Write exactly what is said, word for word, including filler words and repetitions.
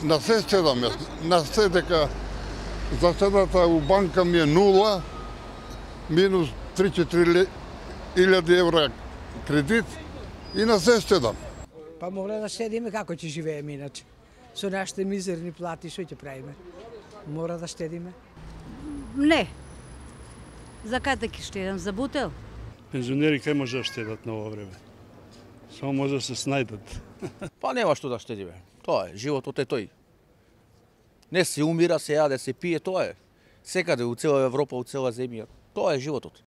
На се седам, на се дека за седата у банка ми е нула, минус три-четири илјади евра кредит и на се седам. Па мора да штедиме, како ќе живееме иначе? Со нашите мизерни плати, што ќе правиме? Мора да штедиме. Не. За кај ќе штедам? За бутел? Пензионери кај може да штедат на ова време? Само може да се снајдат. Па нема што да штедиме. Тоа е, животот е тој. Не се умира, се јаде, се пие, тоа е. Секаде, у цела Европа, у цела земја. Тоа е животот.